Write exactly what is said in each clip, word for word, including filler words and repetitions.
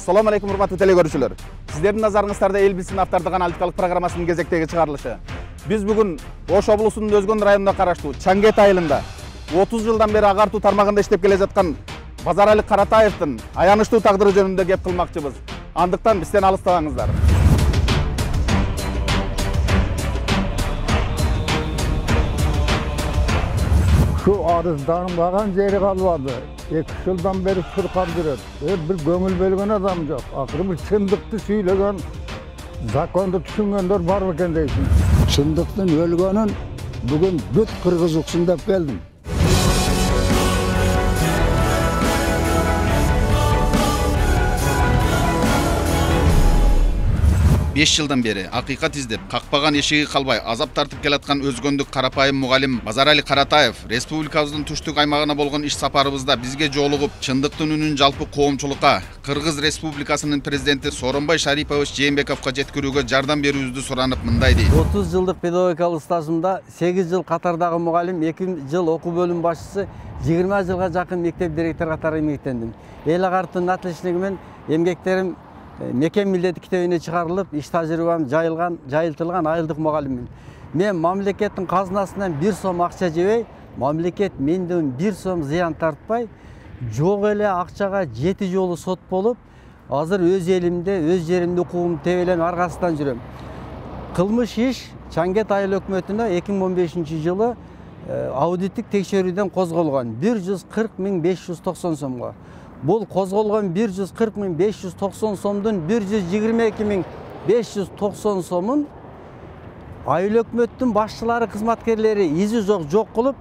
Assalamu alaikum урматтуу телекөрүүчүлөр. Сиздердин назарыңыздарда эл билсин автардык аналитикалык программасынын кезектеги чыгарылышы. Биз бүгүн Ош облусунун Өзгөн районуна караштуу Чаңгет айылында отуз жылдан бери агартуу тармагында иштеп келе жаткан Базарали Каратаевдин аянычтуу тагдыры жөнүндө кеп кылмакчыбыз. Андыктан бизден алыстабаңыздар. Şu arızdanmagan jeri kalmadı. iki yıldan beri sırkam жүрөт. Bir göngül bölgen adam yok. Akırı bir çındıkты söylegen, zakonda düşüngenler var mıken deysin. Çındıktın ölgenin bugün büt Kırgızlıksında geldim. беш жылдан бери акыйкат издеп, какпаган эшиги калбай азап тартып келаткан өзгөндүк карапайым мугалим Базарали Каратаев республикабыздын түштүк аймагына болгон иш сапарыбызда бизге жолугуп, чындыктын үнүн жалпы коомчулукка, Кыргыз Республикасынын президенти Сооронбай Шарипович Жээнбековго жеткирүүгө жардам берүүбүздү суранып мындай дейт. отуз жылдык педагогикалык стажымда сегиз жыл катардагы мугалим, эки жыл окуу бөлүм башчысы, жыйырма жылга жакын мектеп директору катары эмгектендим. Эл агартын атылышыгы менен эмгектерим мекен милдети китебине чыгарылып, иш тажрыйбам жайылган, жайылтылган айылдык мугалиммин. Мен мамлекеттин казынасынан бир сом акча жебей, мамлекет менден бир сом зыян тартпай, жок эле акчага жети жолу сот болуп, азыр өз элимде, өз жеримде укугум тебелен аргасынан жүрөм. Кылмыш иш Чаңгет айыл өкмөтүнө эки миң он бешинчи жылы аудиттик текшерүүдөн козголгон бир жүз кырк миң беш жүз токсон сомго. Бул козголгон бир жүз кырк миң беш жүз токсон сомдун бир жүз жыйырма эки миң беш жүз токсон сомун айыл өкмөттүн башчылары, кызматкерлери изи жок жок кылып,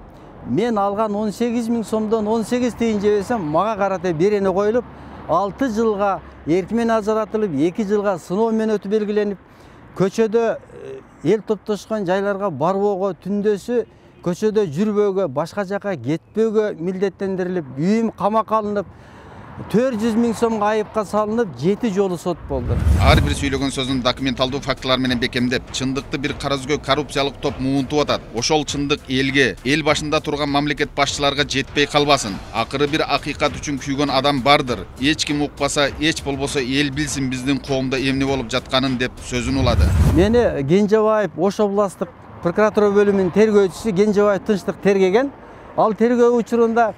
мен алган он сегиз миң сомдон он сегиз тыйын жебесем, мага карата берене коюлуп, алты жылга эркимен ажыратылып, эки жылга сыноо менен өтүү белгиленип, көчөдө эл топтошкон жайларга барбоого, түндөсү көчөдө жүрбөөгө, башка жака кетпөөгө милдеттендирилип, үйүм камакка алынып, төрт жүз миң сомго айыпка салынып, жети жолу сот болду. Ар бир сүйлөгөн сөзүн документалдуу фактылар менен бекемдеп, чындыкты бир караүзгө коррупциялык топ муунтуп атат. Ошол чындык элге, эл башында турган мамлекет башчыларга жетпей калбасын. Акыры бир акыйкат үчүн күйгөн адам бардыр. Эч ким укпаса, эч болбосо эл билсин биздин коомдо эмне болуп жатканын деп сөзүн улады. Мени Кенжебаев Ош областык прокуратура бөлүмүнүн тергөөчүсү Кенжебаев Тынчтык тергеген. Ал тергөө учурунда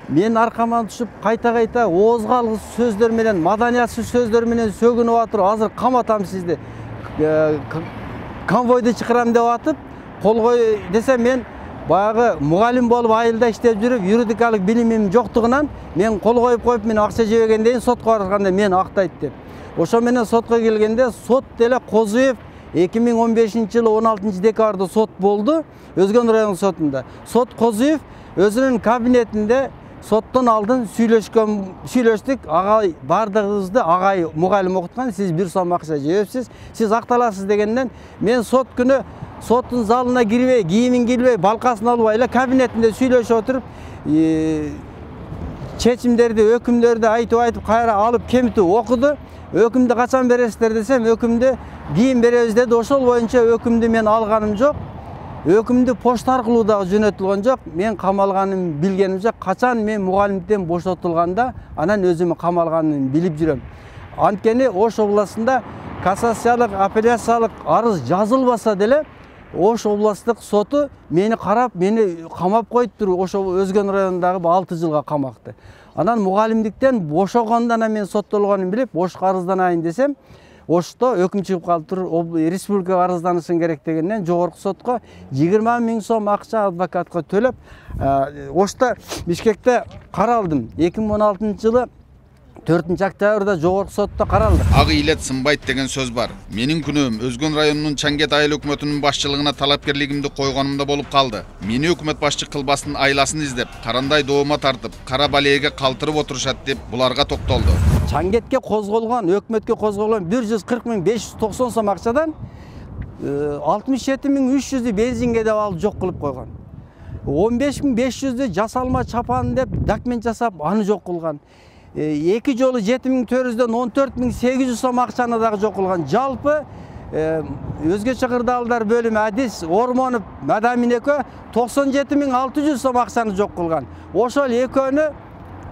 мен аркаман түшүп, кайта-кайта оозго алгыс сөздөр менен, маданиятсыз сөздөр менен сөгүнүп атып, азыр каматам сизди, конвойду чакырам деп атып, колгой десем, мен баягы мугалим болуп айылда иштеп жүрүп, юридикалык билимим жоктугунан мен кол коюп коюп, мен акча жебегенден сотко барганда мен актайт деп. Ошо менен сотко келгенде сот деле Козуев эки миң он бешинчи жылы он алтынчы декабрда сот болду, Өзгөн район сотунда. Сот Козуев өзүнүн кабинетинде соттон алдын сүйлөшкөн, сүйлөштүк, агай бардыгыбызды агай мугалим окуткан, сиз бир сом акча жебепсиз, сиз акталасыз дегенден, мен сот күнү соттун залына кирбей, кийимин кийбей, балкасын албай эле кабинетинде сүйлөшүп отуруп, чечимдерди, өкүмдөрдү айтып айтып кайра алып кемитип окуду. Өкүмдү качан бересиздер десем, өкүмдү кийин беребиз деди. Ошол боюнча өкүмдү мен алганым жок. Өкүмдү почта аркылуу дагы жөнөтүлгөн жок. Мен камалганын билгенимче, качан мен мугалимден бошотулганда, анан өзүм камалганын билип жүрөм. Анткени Ош областында кассациялык, апелляциялык арыз жазылбаса деле, Ош областтык соту мени карап, мени камап коюптур. Ошо Өзгөн районундагы алты жылга камакты. Анан мугалимдиктен бошогондон мен соттолгонун билип, Ошко арызданайын десем, Ошто өкүм чыгып калыптыр, республикага арызданышың керек дегенден жогорку сотко жыйырма миң сом акча адвокатка төлөп, Ошто Бишкекте каралдым. эки миң он алтынчы жылы төртүнчү октябрда жогорку сотто каралды. Ак илет сынбайт деген сөз бар. Менин күнөөм Өзгөн районунун Чаңгет айыл өкмөтүнүн башчылыгына талапкерлигимди койгонумда болуп калды. Мени өкмөт башчы кылбастын айласын издеп, карандай доома тартып, кара балээге калтырып отурушат деп буларга токтолду. Чаңгетке козголгон, өкмөткө козголгон бир жүз кырк миң беш жүз токсон сом акчадан алтымыш жети миң үч жүздү бензинге деп алып жок кылып койгон. он беш миң беш жүздү жасалма чапан деп документ жасап аны жок кылган. эки жолу жети миң төрт жүздөн он төрт миң сегиз жүз сом акчаны дагы жок кылган. Жалпы өзгөчө кырдаалдар бөлүмү адис Ормонов Мадамин экөө токсон жети миң алты жүз сом акчаны жок кылган. Ошол экөөнү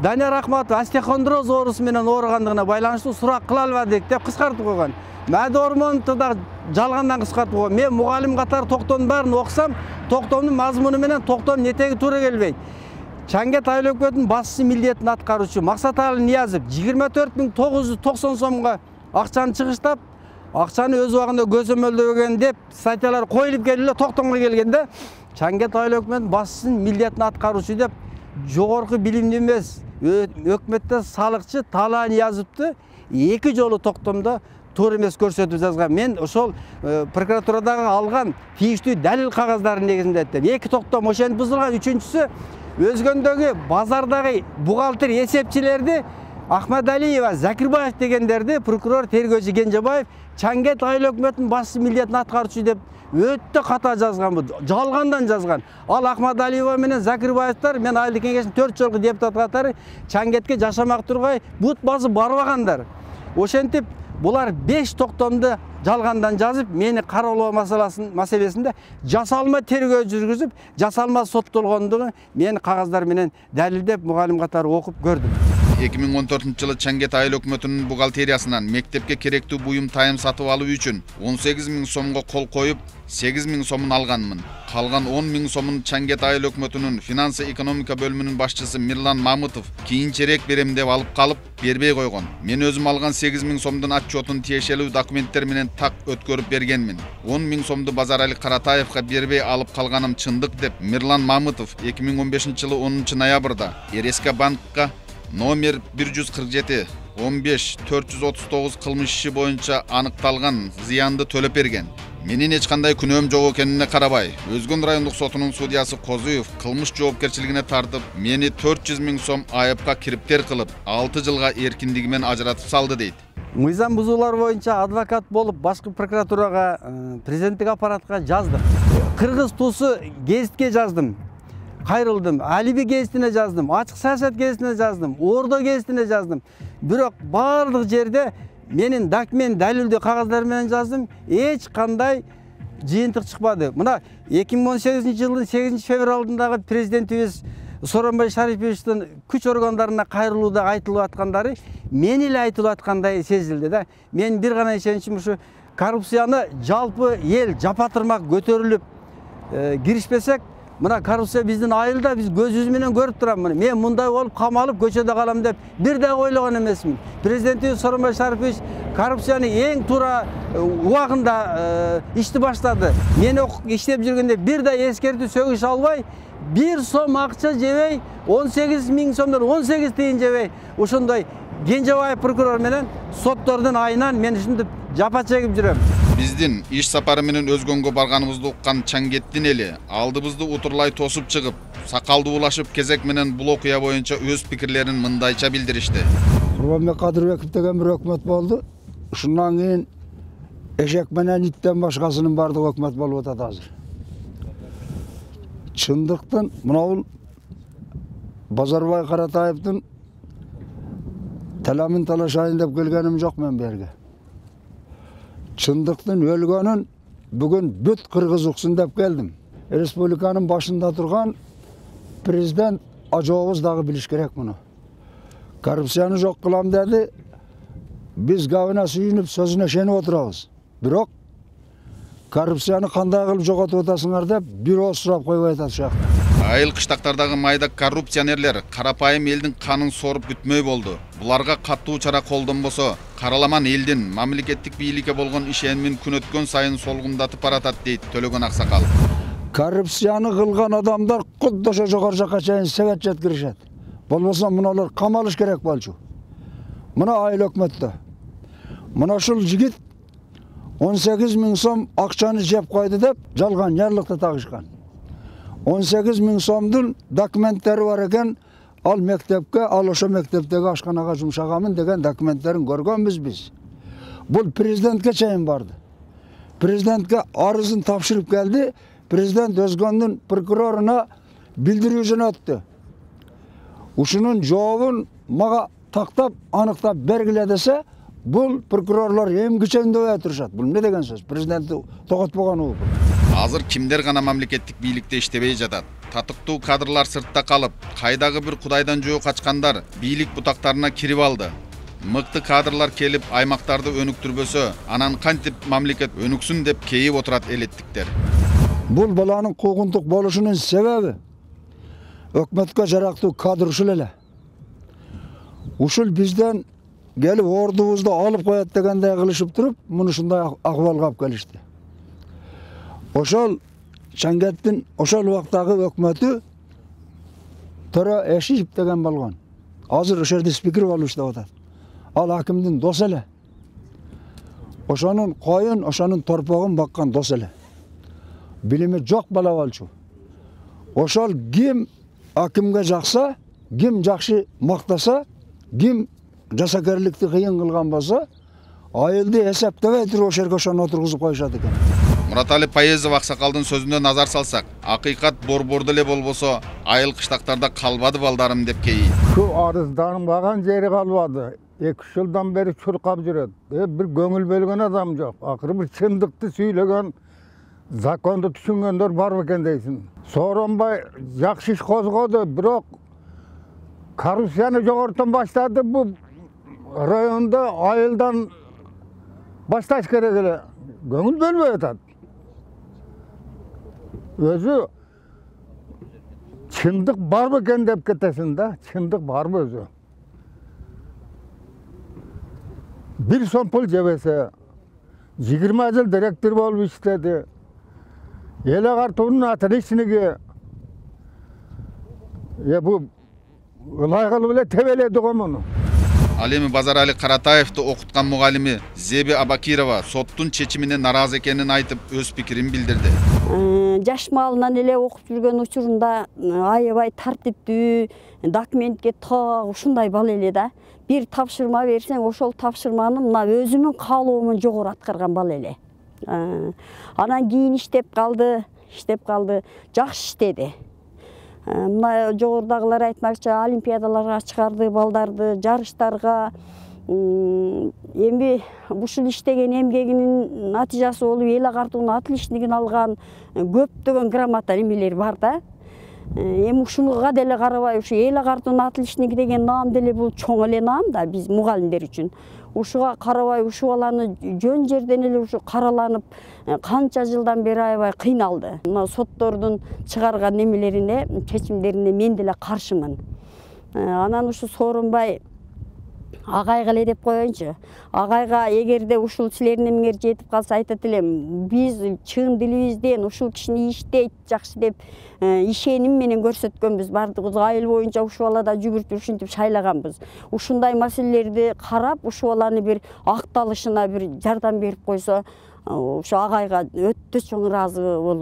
Данияр Ахматов остеохондроз оорусу менен ооругандыгына байланыштуу сурак кыла албадык деп кыскартып койгон. Мәди Ормоновду да жалгандан кыскартып койгон. Мен мугалим катары токтомдун баарын окусам, токтомдун мазмуну менен токтомдун этеги туура келбейт. Чангет айыл өкмөтүнүн башчысы милдетин аткаруучу Максаталы Ниязов жыйырма төрт миң тогуз жүз токсон сомго акчаны чыгыштап, акчаны өз убагында көзөмөлдөгөн деп статьялар коюлуп келип эле токтомго келгенде Чангет айыл өкмөтүнүн башчысынын милдетин аткаруучу деп жогорку билимдүү эмес өкмөттө салыкчы Талаа Ниязовду эки жолу токтомдо туура эмес көрсөтүп жазган. Мен ошол прокуратурадагы алган тийиштүү далил кагаздардын негизинде айттым. Эки токтом ошентип бузулган. Үчүнчүсү өзгөндөгү базардагы бухгалтер эсепчилерди Ахмадалиева, Закирбаев дегендерди прокурор тергөөчү Кенжебаев Чангет айыл өкмөтүнүн башчысы милдетин аткаруучу деп өтө ката жазган, бу жалгандан жазган. Ал Ахмадалиева менен Закирбаевтар мен айылдык кеңештин төрт жолку депутат катары Чангетке жашамак тургай бут басып барбагандар. Ошентип булар беш токтомду жалгандан жазып, мени кароолоо маселесинде жасалма тергөө жүргүзүп, жасалма соттолгондугун мен кагаздар менен далилдеп мугалим катары окуп көрдүм. эки миң он төртүнчү жылы Чангет айыл өкмөтүнүн бухгалтериясынан мектепке керектүү буюм тайым сатып алуу үчүн он сегиз миң сомго кол коюп, сегиз миң сомун алганмын. Калган он миң сомун Чангет айыл өкмөтүнүн финансы экономика бөлүмүнүн башчысы Мирлан Мамытов кийинчерээк берем деп алып калып, бербей койгон. Мен өзүм алган сегиз миң сомдун отчетун тиешелүү документтер менен так өткөрүп бергенмин. он миң сомду Базарали Каратаевга бербей алып калганым чындык деп Мирлан Мамытов эки миң он бешинчи жылы онунчу ноябрда РСК банкка номер бир жүз кырк жети он беш төрт жүз отуз тогуз кылмыш иши боюнча аныкталган зыянды төлөп берген. Менин эч кандай күнөөм жок экенине карабай, Өзгөн райондук сотунун судьясы Козуев кылмыш жоопкерчилигине тартып, мени төрт жүз миң сом айыпка кириптер кылып, алты жылга эркиндигимен ажыратып салды дейт. Мыйзам бузуулар боюнча адвокат болуп, башкы прокуратурага, президенттик аппаратка жаздым. Кыргыз туусу гезитке жаздым. Кайрылдым, Алиби гезитине жаздым, Ачык саясат гезитине жаздым, Ордо гезитине жаздым. Бирок баардык жерде менин документ далилдүү кагаздар менен жаздым, эч кандай жыйынтык чыкпады. Мына эки миң он сегизинчи жылдын сегизинчи февралындагы президентибиз Сооронбай Шариповичтин күч органдарына кайрылууда айтылып аткандары мен эле айтылып аткандай сезилди да. Мен бир гана ишеничим ушу коррупцияны жалпы эл жапатырмак көтөрүлүп киришпесек, мына коррупция биздин айылда биз көзүбүз менен көрүп турам. Мен мындай болуп камалып көчөдө калам деп бир да ойлогон эмесмин. Президентибиз Сооронбай Шарипович коррупцияны эң туура убагында ишти баштады. Мен иштеп жүргөндө бир да эскертүү сөгүш албай, бир сом акча жебей, он сегиз миң сомдон он сегиз тыйын жебей, ошондой Кенжебаев прокурор менен соттордун айынан мен ушинтип жапа чегип жүрөм. Биздин иш сапары менен Өзгөнгө барганыбызды уккан Чангеттин эли алдыбызды утурлай тосуп чыгып, сакалды улашып кезек менен бул окуя боюнча өз пикирлерин мындайча билдиришти. Курбанбек Кадырбеков деген бир өкмөт болду. Ушундан кийин эшек менен иттен башкасынын бардыгы өкмөт болуп атат азыр. Чындыктын мына Базарбай Каратаевдин таламын талашайын деп келгеним жок мен берге. Чындыктын өлгөнүн бүгүн бүт кыргыз уксун деп келдим. Республиканын башында турган президент ажообуз дагы билиш керек муну. Коррупцияны жок кылам деди. Биз габына сүйүнүп сөзүнө ишенип отурабыз. Бирок коррупцияны кандай кылып жоготуп атасыңар деп бир ооз сурап койбой атат ушакта. Айыл кыштактардагы майда коррупционерлер карапайым элдин канын соруп бүтмөй болду. Буларга каттуу чара колдонбосо, караламан элдин мамлекеттик бийликке болгон ишенимин күн өткөн сайын солгундатып баратат дейт Төлөгөн Аксакал. Коррупцияны кылган адамдар кудда ошо жогору жакка чейин себет жеткиришет. Болбосо муналар камалыш керек болчу. Мына айыл өкмөттө. Мына ушул жигит он сегиз миң сом акчаны жеп койду деп жалган жарлыкты тагышкан. он сегиз миң сомдун документтери бар экен, ал мектепке, ал ошо мектептеги ашканага жумшаганмын деген документтерин көргөнбүз биз. Бул президентке чейин барды. Президентке арызын тапшырып келди. Президент Өзгөндүн прокуроруна билдирүү жөнөттү. Ушунун жообун мага тактап, аныктап бергиле десе, бул прокурорлор эмгичендебей турушат. Бул эмне деген сөз? Президентти тоготпогон уу? Азыр кимдер гана мамлекеттик бийликте иштебей жатат? татыктуу кадрлар сыртта калып, кайдагы бир кудайдан жөө качкандар бийлик бутактарына кирип алды. Мыкты кадрлар келип аймактарды өнүктүрбөсө, анан кантип мамлекет өнүксүн деп кейип отурат элеттиктер. Бул баланын куугунтук болушунун себеби өкмөткө жарактуу кадр ушул эле. Ушул бизден келип ордубузду алып коет дегендей кылышып туруп, муну ушундай акыбалга алып келишти. Ошол Чангеттин ошол убактагы өкмөтү Тора Эшиев деген болгон. Азыр ошол жерде спикер болуп иштеп атат. Ал акимдин досу эле. Ошонун коюн, ошонун торпогун баккан досу эле. Билими жок бала болчу. Ошол ким акимге жакса, ким жакшы мактаса, ким жасакерликти кыйын кылган болсо, айылды эсептебей туруп ошол жерге ошону отургузуп коюшат экен. Муратали Паезов аксакалдын сөзүнө назар салсак, акыйкат борбордо эле болбосо, айыл кыштактарда калбады балдарым деп кейи. Şu arızdanmagan jeri kalmadı. iki üç yıldan beri çurkap жүрөт. E, bir göngül bölgen adam yok. Akırı bir çındıktı söylegen, zakondu düşüngenler var mı deysin. Soronbay jakşı iş kozgodu, birok korrupsiyany jogortan başladı. Bu rayonda ayıldan başlaş gerek ele. Göngül bölmeye atat. Özü çındık var mı dep ketesin de, çındık var mı özü? Bir son pul cebese, yigirme yıl direktör bolup işledi. Ele kartonun ateşinigi, ya bu layıklı bile teveledi komunu. Ал эми Базарали Каратаевди окуткан мугалими Зеби Абакирова соттун чечимине наразы экенин айтып, өз пикирин билдирди. Жаш малынан эле окуп жүргөн учурунда аябай тартиптүү, документке так ушундай бала эле да. Бир тапшырма берсең, ошол тапшырманы мына өзүмүн каалоомун жогору аткарган бала эле. Анан кийин иштеп калды, иштеп калды, жакшы иштеди. Мына жогорудагылар айтмакчы, олимпиадаларга чыгарды балдарды, жарыштарга. Эми ушул иштеген эмгегинин натыйжасы болуп эл агартуунун отличнигин алган көптөгөн грамота эмелер бар да. Эми ушуга деле карабай, ушу эл агартуунун отличниги деген наам деле бул чоң эле наам да биз мугалимдер үчүн. Ушуга карабай, ушу баланы жөн жерден эле ушу караланып, канча жылдан бери аябай кыйналды. Мына соттордун чыгарган немелерине, чечимдерине мен деле каршымын. Анан ушу Сооронбай агайга эле деп коеюнчу. Агайга эгерде ушул силердин эмиңер жетип калса айтат элем, биз чын дилибизден ушул кишини иштейт жакшы деп ишеним менен көрсөткөнбүз. Бардыгыбыз айыл боюнча ушул балада жүгүртүп ушинтип шайлаганбыз. Ушундай маселелерди карап, ушул баланы бир акталышына бир жардам берип койсо, ошо агайга өтө чоң ыраазы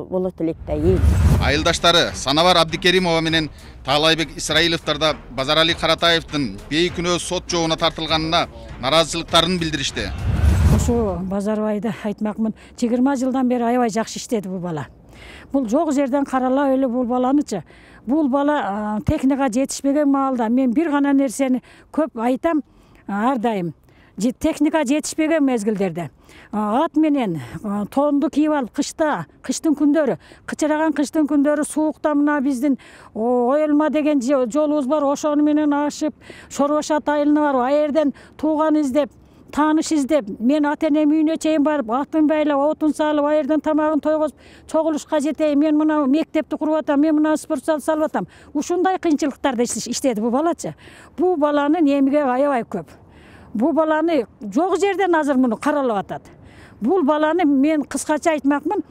болот элек да эл. Айылдаштары Санабар Абдикеримова менен Таалайбек Исраиловдор да Базарали Каратаевдин бейкүнөө сот жообуна тартылганына наразычылыктарын билдиришти. Ошо Базарбайды айтмакмын, жыйырма жылдан бери аябай жакшы иштеди бул бала. Бул жок жерден каралап эле бул баланычы. Бул бала техника жетишпеген маалда мен бир гана нерсени көп айтам ар дайым. Техника жетишпеген мезгилдерде ат менен тоонду кийип алып кышта, кыштын күндөрү, кычыраган кыштын күндөрү суукта мына биздин Оюлма деген жолубуз бар, ошону менен ашып, Шорбашат айылына барып, а жерден тууган издеп, тааныш издеп, мен ата энем үйүнө чейин барып, атын байлап, отун салып, а жерден тамагын тойгозуп, чогулушка жетейин, мен мына мектепти куруп атам, мен мына спортзал салып атам. Ушундай кыйынчылыктарда иштеди бул балачы. Бул баланын эмиги аябай көп. Бул баланы жок жерден азыр муну каралап атат. Бул баланы мен кыскача айтмакмын,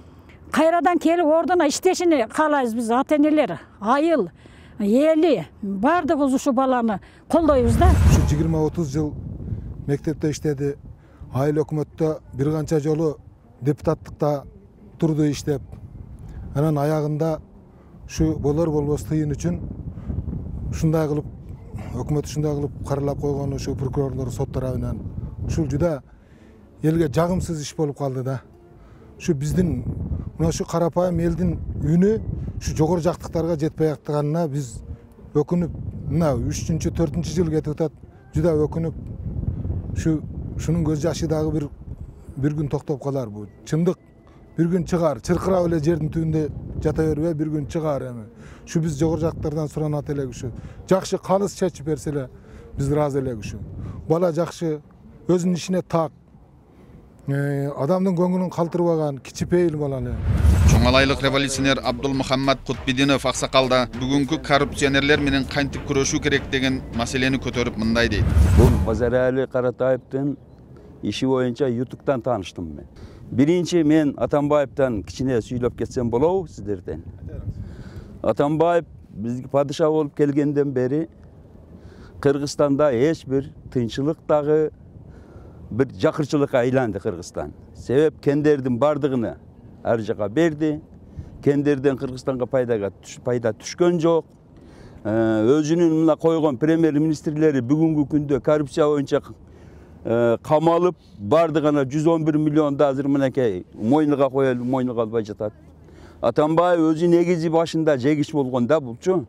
кайрадан келип ордуна иштешини каалайбыз биз ата энелер, айыл, эли, бардыгыбыз ушу баланы колдойбуз да. Ушу жыйырма отуз жыл мектепте иштеди, айыл өкмөттө бир канча жолу депутаттыкта турду иштеп. Анан аягында ушу болор болбос тыйын үчүн ушундай кылып өкмөт ушундай кылып каралап койгон ушу прокурорлор сот тарабынан ушул жуда элге жагымсыз иш болуп калды да. Ушу биздин мына ушу карапайым элдин үнү ушу жогору жактыктарга жетпей атканына биз өкүнүп, мына үчүнчү, төртүнчү жыл кетип атат. Жуда өкүнүп, ушу ушунун көз жашы дагы бир бир күн токтоп калар. Бул чындык бир күн чыгар, чыркырап эле жердин түбүндө жата бербей бир күн чыгар эми. Ушу биз жогору жактардан суранат элек ушу. Жакшы калыс чечип берсе эле биз ыраазы элек ушу. Бала жакшы, өзүнүн ишине так, адамдын көңүлүн калтырбаган кичипейил бала эле. Чоңалайлык революционер Абдулмухаммад Кутбидинов аксакалда бүгүнкү коррупционерлер менен кантип күрөшүү керек деген маселени көтөрүп мындай дейт. Бул Базарали Каратаевдин иши боюнча ютубтан тааныштым мен. Биринчи мен Атамбаевден кичине сүйлөп кетсем болобу сиздерден. Атамбаев бизге падыша болуп келгенден бери Кыргызстанда эч бир тынччылык дагы бир жакырчылыкка айланды Кыргызстан. Себеп кендердин бардыгына ар жака берди. Кендерден Кыргызстанга пайдага пайда түшкөн жок. Өзүнүн мына койгон премьер-министрлери бүгүнкү күндө коррупция боюнча камалып, бардыгына жүз он бир миллион да азыр мынакей мойнуга коелуп, мойнуга албай жатат. Атамбаев өзү негизи башында жегиш болгон да булчу.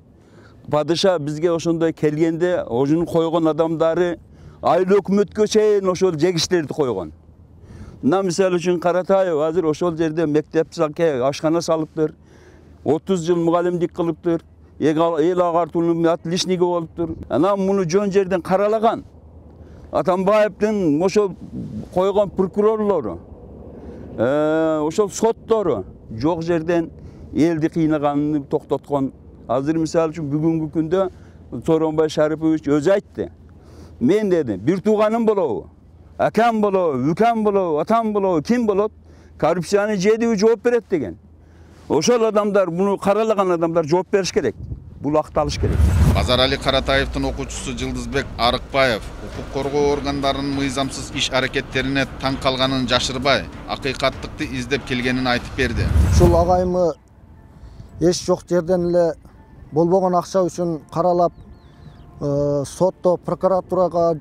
Падыша бизге ошондой келгенде, ошонун койгон адамдары айыл өкмөткө чейин ошол жегиштерди койгон. Мына мисалы үчүн Каратаев азыр ошол жерде мектеп салке, ашкана салыптыр. отуз жыл мугалимдик кылыптыр. Эл агартуунун отличниги болуптур. Анан муну жөн жерден каралаган. Атамбаевдин ошол койгон прокурорлору, ошол соттору жок жерден элди кыйнаганын токтоткон. Азыр мисалы үчүн бүгүнкү күндө Сооронбай Шарипович өзү айтты. Мен деди, бир тууганым болобу, акам болобу, үкам болобу, атам болобу, ким болот? Коррупцияны жедиби жооп берет деген. Ошол адамдар, муну каралаган адамдар жооп бериш керек. Бул акталыш керек. Базарали Каратаевдин окуучусу Жылдызбек Арыкбаев укук коргоо органдарынын мыйзамсыз иш аракеттерине таң калганын жашырбай, акыйкаттыкты издеп келгенин айтып берди. Ушул агайымы эч жок жерден эле болбогон акча үчүн каралап, сотто, прокуратурага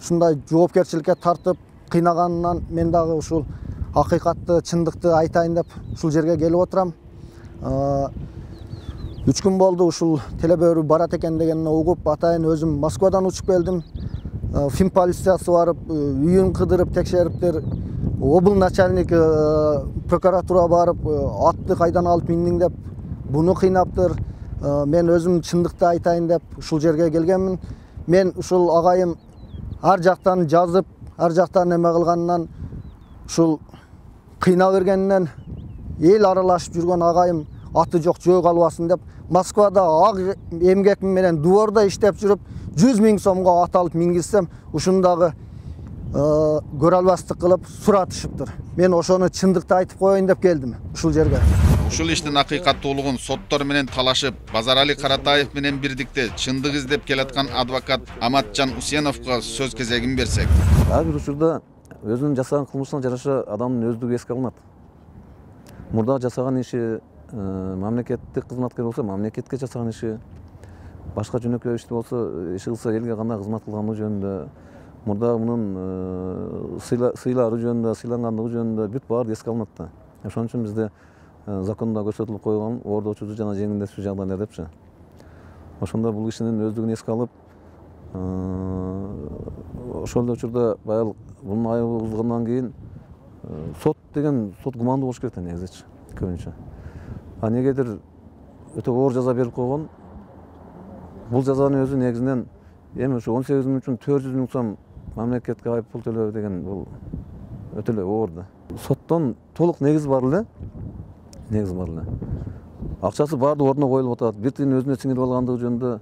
ушундай жоопкерчиликке тартып кыйнаганынан мен дагы ушул акыйкатты, чындыкты айтайын деп ушул жерге келип отурам. Үч күн болду ушул телебөрү барат экен дегенин угуп, атайын өзүм Москвадан учуп келдим. Фин полициясы барып, үйүн кыдырып текшериптир. Обл начальник прокуратура барып, атты кайдан алып индиң деп буну кыйнаптыр. Мен өзүм чындыкты айтайын деп ушул жерге келгенмин. Мен ушул агайым ар жактан жазып, ар жактан эме кылганынан, ушул кыйнап бергенинен эл аралашып жүргөн агайым аты жок жөө калбасын деп Москвада ак эмгек менен дворда иштеп жүрүп жүз миң сомго ат алып мингизсем, ушундагы көрө албастык кылып суратышыптыр. Мен ошону чындыкты айтып коеюн деп келдим ушул жерге. Ушул иштин акыйкаттуулугун соттор менен талашып, Базарали Каратаев менен бирдикте чындык издеп келаткан адвокат Аматжан Усеновго сөз кезегин берсек. Ар бир учурда өзүнүн жасаган кылмышына жараша адамдын өздүгү эске алынат. Мурда жасаган иши мамлекеттик кызматкер болсо, мамлекетке жасаган иши, башка жөнөкөй ишти болсо, иш кылса элге кандай кызмат кылганы жөнүндө, мурда мунун сыйлары жөнүндө, сыйлангандыгы жөнүндө бүт баары эске алынат да. Ошон үчүн бизде закондо көрсөтүлүп койгон ордочуу жана жеңилдетүү жагдайлар депчи. Ошондо бул кишинин өздүгүн эске алып, ошол учурда баягы бунун айыбы бузулгандан кийин сот деген сот кумандуу болуш керек да негизичи, көбүнчө. А негедир өтө оор жаза берип койгон. Бул жазанын өзү негизинен эми ушу он сегиз миң үчүн төрт жүз миң сом мамлекетке айып пул төлөө деген бул өтө эле оор да. Соттон толук негиз бар эле. Негиз бар эле. Акчасы баардык ордуна коюлуп атат. Бир тиын өзүнө сиңирип алгандыгы жөнүндө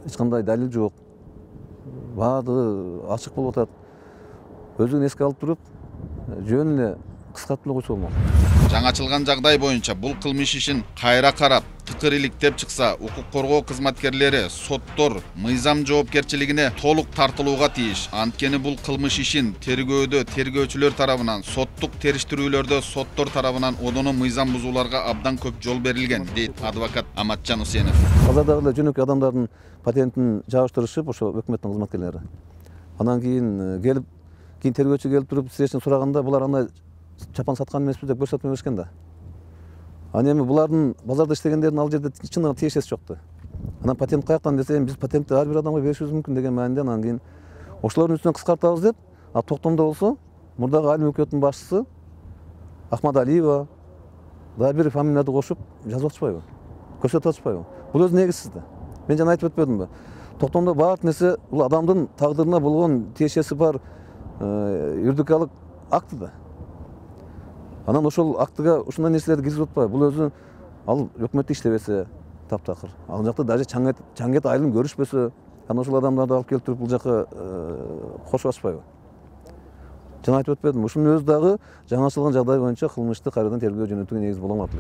эч кандай далил жок. Баардыгы ачык болуп атат. Өзүн эске алып туруп, жөн эле кыскартып эле койсо болмок. Жаңачылган жагдай боюнча бул кылмыш ишин кайра карап, тыкыр иликтеп чыкса, укук коргоо кызматкерлери, соттор мыйзам жоопкерчилигине толук тартылууга тийиш. Анткени бул кылмыш ишин тергөөдө тергөөчүлөр тарабынан, соттук териштирүүлөрдө соттор тарабынан одоно мыйзам бузууларга абдан көп жол берилген, дейт адвокат Аматжан Усенов. Азырдагы эле жөнөкөй адамдардын патентин жабыштырышып, ошо өкмөттүн кызматкерлери. Анан кийин келип, кийин тергөөчү келип туруп сиздерден сураганда, булар андай чапан саткан эмеспиз деп көрсөтмө беришкен да. Аны эми булардын базарда иштегендердин ал жерде чындыгы тиешеси жок да. Анан патент каяктан десе, биз патентти ар бир адамга беришибиз мүмкүн деген мааниден, анан кийин ошолордун үстүнөн кыскартабыз деп, а токтомдо болсо, мурдагы айыл өкмөтүнүн башчысы Ахмадалиева дагы бир фамилияларды кошуп жазып атышпайбы, көрсөтүп атышпайбы? Бул өзү негизсиз да. Мен жана айтып өтпөдүмбү? Токтомдо баардык нерсе бул адамдын тагдырына болгон тиешеси бар юридикалык акты да. Анан ошол актыга ушундай нерселерди киргизип атпайбы? Бул өзү ал өкмөттө иштебесе таптакыр. Ал жакта даже чаңгет айылын көрүшпөсө, анан ошол адамдарды алып келип туруп бул жака кошуп атышпайбы? Жана айтып өтпөдүм, ушунун өзү дагы жаңы ачылган жагдай боюнча кылмышты кайрадан тергөө жөнөтүүгө негиз боло алат.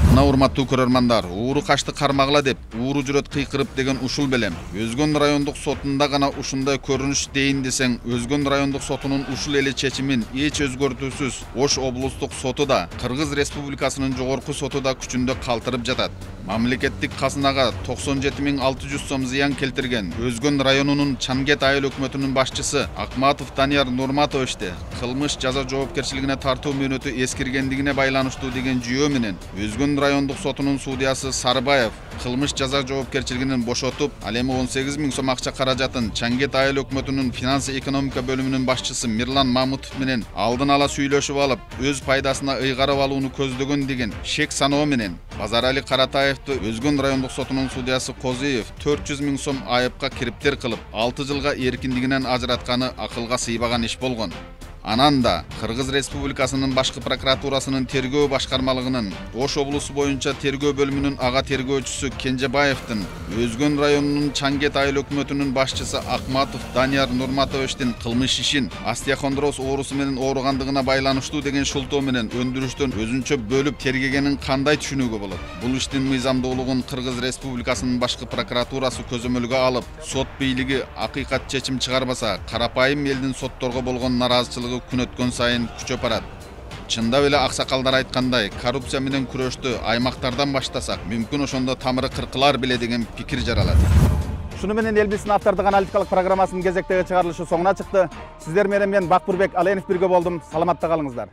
Мына урматтуу көрөрмандар, ууру качты кармагыла деп, ууру жүрөт кыйкырып деген ушул белем. Өзгөн райондук сотунда гана ушундай көрүнүш дейин десең, Өзгөн райондук сотунун ушул эле чечимин эч өзгөртүүсүз Ош облустук соту да, Кыргыз Республикасынын жогорку соту да күчүндө калтырып жатат. Мамлекеттик казынага токсон жети миң алты жүз сом зыян келтирген Өзгөн районунун Чангет айыл өкмөтүнүн башчысы Акматов Данияр Нурматовичти кылмыш жаза жоопкерчилигине тартуу мөөнөтү эскиргендигине байланыштуу деген жүйөө менен Өзгөн райондук сотунун судьясы Сарбаев кылмыш жаза жоопкерчилигинен бошотуп, ал эми он сегиз миң сом акча каражатын Чангет айыл өкмөтүнүн финансы экономика бөлүмүнүн башчысы Мирлан Мамутов менен алдын ала сүйлөшүп алып, өз пайдасына ыйгарып алууну көздөгөн деген шек саноо менен Базарали Каратаевди Өзгөн райондук сотунун судьясы Козиев төрт жүз миң сом айыпка кириптер кылып, алты жылга эркиндигинен ажыратканы акылга сыйбаган иш болгон. Анан да Кыргыз Республикасынын башкы прокуратурасынын тергөө башкармалыгынын Ош облусу боюнча тергөө бөлүмүнүн ага тергөөчүсү Кенжебаевдин Өзгөн районунун Чангет айыл өкмөтүнүн башчысы Акматов Данияр Нурматовичтин кылмыш ишин остеохондроз оорусу менен ооругандыгына байланыштуу деген шылтоо менен өндүрүштөн өзүнчө бөлүп тергегенин кандай түшүнүүгө болот? Бул иштин мыйзамдуулугун Кыргыз Республикасынын башкы прокуратурасы көзөмөлгө алып, сот бийлиги акыйкат чечим чыгарбаса, карапайым элдин сотторго болгон нараазычылыгы күн өткөн сайын күчөп барат. Чындап эле аксакалдар айткандай, коррупция менен күрөштү аймактардан баштасак, мүмкүн ошондо тамыры кыркылар беле деген пикир жаралат. Шуну менен Элбистин автордук аналитикалык программасынын кезектеги чыгарылышы соңуна чыкты. Сиздер менен мен Бакбурбек Аленов бирге болдум. Саламатта калыңыздар.